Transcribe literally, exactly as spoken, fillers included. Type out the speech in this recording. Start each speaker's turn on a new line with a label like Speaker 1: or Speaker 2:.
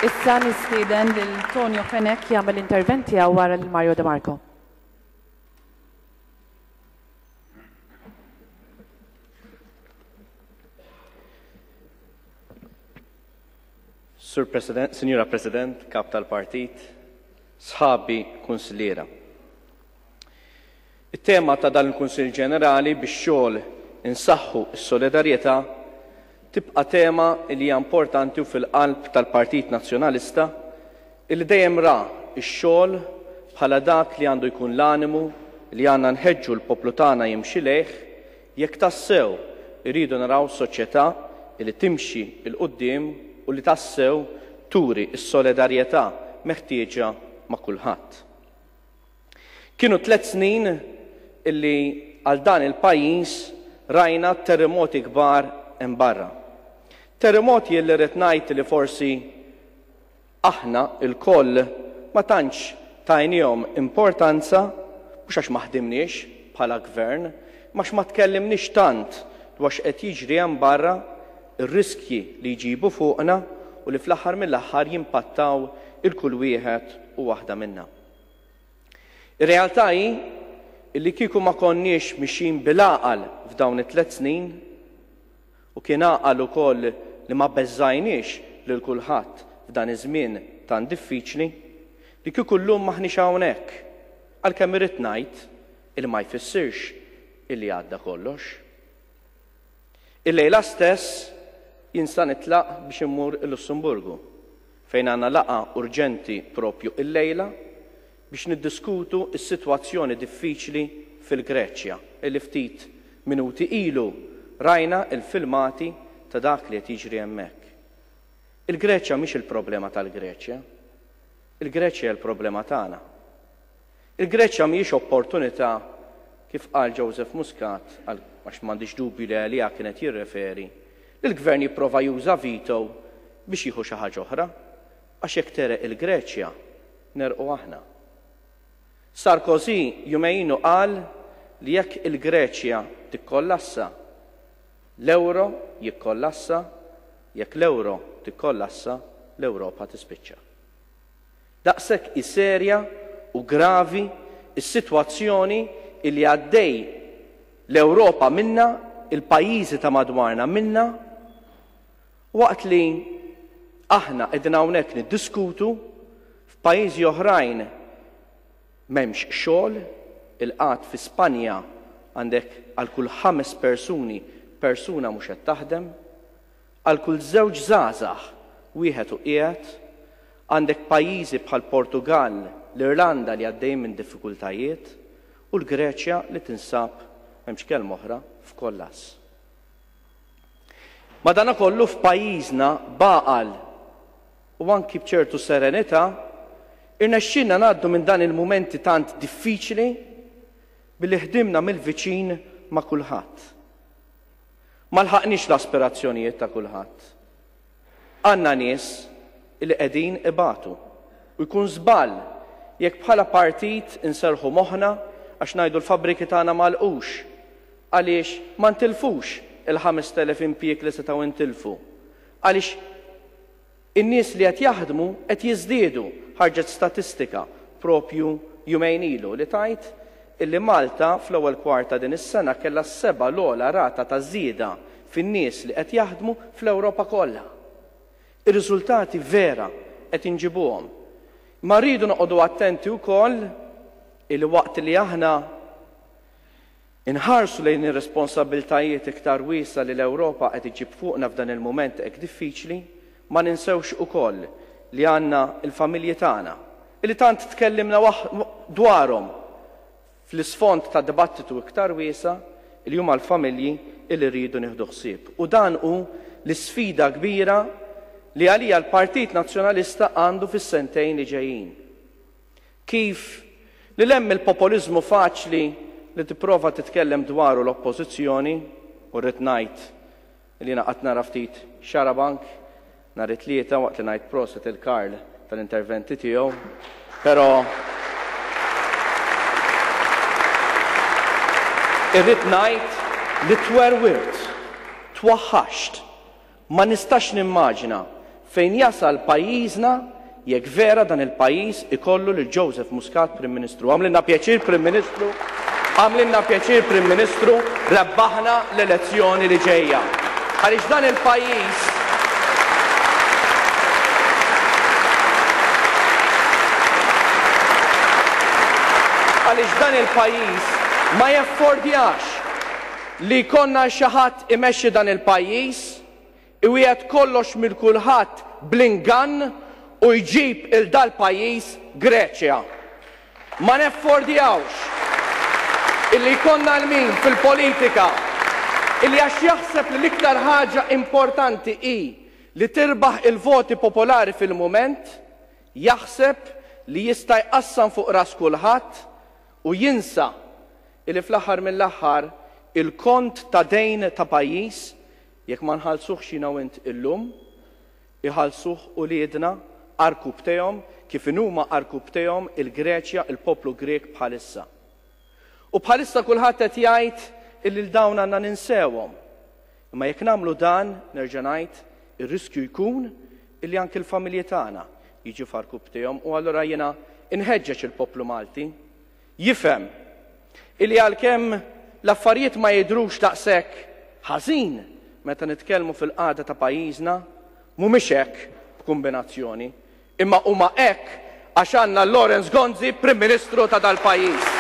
Speaker 1: Issa nistieden lil Tonio Fenech jagħmel intervent tiegħu wara lil Mario De Marco.
Speaker 2: Sur President, Sinjura President, Kap tal-Partit, sħabi kunsilliera. It-tema ta' dan il-Kunsill Ġenerali bix-xogħol insaħħu s-solidarjetà tibqa' tema li hija importanti u fil-qalb tal-Partit Nazzjonalista illi dejjem ra x-xogħol bħala dak li għandu jkun l-animu li għandna nħeġġu l-poplu tagħna jimxi lejh jekk tassew irridu naraw soċjetà li timxi 'l quddiem u li tassew turi s-solidarjetà meħtieġa ma' kulħadd. Kienu tliet snin illi għal dan il-pajjiż rajna terremoti kbar hemm barra. Terremoti li rrid ngħid li forsi aħna lkoll ma tantx tajniehom importanza, mhux għax ma ħdimniex bħala gvern, imma għax ma tkellimniex tant dwar x'qed jiġri hemm barra, ir-riskji li jġibu fuqna u li fl-aħħar mill-aħħar jimpattaw il kull wieħed u waħda minna. Ir-realtà hi li kieku ma konniex mixjin bil-għaqal f'dawn it-tliet snin, u kien għaqal ukoll li ma beżżajniex lil kulħadd f'dan iż-żmien tant diffiċli, li kieku llum m'aħniex hawnhekk, għalkemm irrid ngħid illi ma jfissirx illi għadda kollox. Illejla stess jien sa nitlaq biex immur il-Lussemburgu, fejn għandna laqgħa urġenti propju illejla biex niddiskutu s-sitwazzjoni diffiċli fil-Greċja, illi ftit minuti ilu rajna il-filmati ta' dak li qed jiġri hemmhekk. Il-Greċja mhix il-problema tal-Greċja. Il-Greċja hija l-problema tagħna. Il-Greċja mhijiex opportunità, kif qal Joseph Muscat, għax m'għandix dubju li għaliha kienet jirreferi, li l-gvern jipprova juża veto biex jieħu xi ħaġa oħra, għax jekk tereq il-Greċja, nerqu aħna. Sarkozy jumejn ilu qal li jekk il-Greċja tikkollassa, l-euro jikkollassa, jekk l-euro tikkollassa, l-Ewropa tispiċċa. Daqshekk hi serja u gravi s-sitwazzjoni illi għaddej l-Ewropa minna, il-pajjiżi ta' madwarna minna, waqt li aħna qegħdin hawnhekk niddiskutu f'pajjiżi oħrajn m'hemmx xogħol, il-qgħad fi Spanja għandek għal kull ħames persuni persuna mhux qed taħdem, għal kull żewġ żgħażagħ wieħed u qiegħed, għandek pajjiżi bħal Portugal, l-Irlanda li għaddejjin minn diffikultajiet u l-Greċja li tinsab, m'hemmx kelma oħra, f'kollass. Madanakollu f'pajjiżna baqal u anki b'ċertu serenità irnexxinna ngħaddu minn dan il-mumenti tant diffiċli billi ħdimna mill-viċin ma' kulħadd. Ma lħaqniex l-aspirazzjonijiet ta' kulħadd. Għandna nies li qegħdin ibatu u jkun żball jekk bħala partit inserħu moħħna għax ngħidu l-fabbriki tagħna m'għalqux, għaliex ma ntilfux il-ħamest elef impjieg li setgħu ntilfu, għaliex in-nies li qed jaħdmu qed jiżdiedu. Ħarġet statistika propju jumejn ilu li tajt illi Malta fl-ewwel kwarta din is-sena kellha s-seba' l-ogħla rata ta' żieda fin-nies li qed jaħdmu fl-Ewropa kollha. Ir-riżultati vera qed inġibuhom. Ma rridu noqogħdu attenti wkoll illi waqt li aħna inħarsu lejn ir-responsabbiltajiet iktar wiesgħa li l-Ewropa qed iġib fuqna f'dan il-mument hekk diffiċli, ma ninsewx ukoll li għandna l-familji tagħna illi tant tkellimna dwarhom fl-isfond ta' dibattitu iktar wiesa' li huma l-familji illi rridu nieħdu ħsieb. U dan hu l-isfida kbira li għalija l-Partit Nazzjonalista għandu fis-sentejn li ġejjin. Kif li hemm il-populiżmu faċli li tipprova titkellem dwaru l-oppożizzjoni, u rrid ngħid li jiena qatt nara ftit xarabank nhar it-Tlieta waqt li ngħid proset il-Karl tal-interventi tiegħu, però irrid ngħid li twerwirt, twaħħaxt, ma nistax nimmaġina fejn jasal pajjiżna jekk vera dan il-pajjiż ikollu lil Joseph Muscat Prim Ministru. Għamlilna pjaċir Prim Ministru, għamlilna pjaċir Prim Ministru, rebbaħna l-elezzjoni li ġejja. Għaliex dan il-pajjiż għaliex dan il-pajjiż ma jaffordjax li jkollna xi ħadd imexxi dan il-pajjiż, iwiegħed kollox minn kulħadd bl-ingann u jġib il dal-pajjiż Greċja. Ma neffordjawx illi jkollna l-min fil-politika illi għax jaħseb li l-iktar ħaġa importanti hi li tirbaħ il-voti popolari fil-mument, jaħseb li jista' jqassam fuq ras kulħadd u jinsa illi fl-aħħar mill-aħħar il-kont ta' dejn ta' pajjiż jekk ma nħallsuhx jiena u int illum, iħallsuh uliedna għarkupptejhom kif inhuma għarkupptejhom il-Greċja, il-poplu Grek bħalissa. U bħalissa kulħadd qed jgħid illi l dawn għandna ninsewhom. Imma jekk nagħmlu dan, nerġa' ngħid, ir-riskju jkun illi anke l-familji tagħna jiġu f'għarkupptejhom u allura jiena inħeġġeġ il-poplu Malti jifhem illi għalkemm l-affarijiet ma jidhrux daqshekk ħażin meta nitkellmu fil-qagħda ta' pajjiżna, mhumiex hekk b'kumbinazzjoni, imma huma hekk għax għandna Lawrence Gonzi Prim Ministru ta' dal-pajjiż.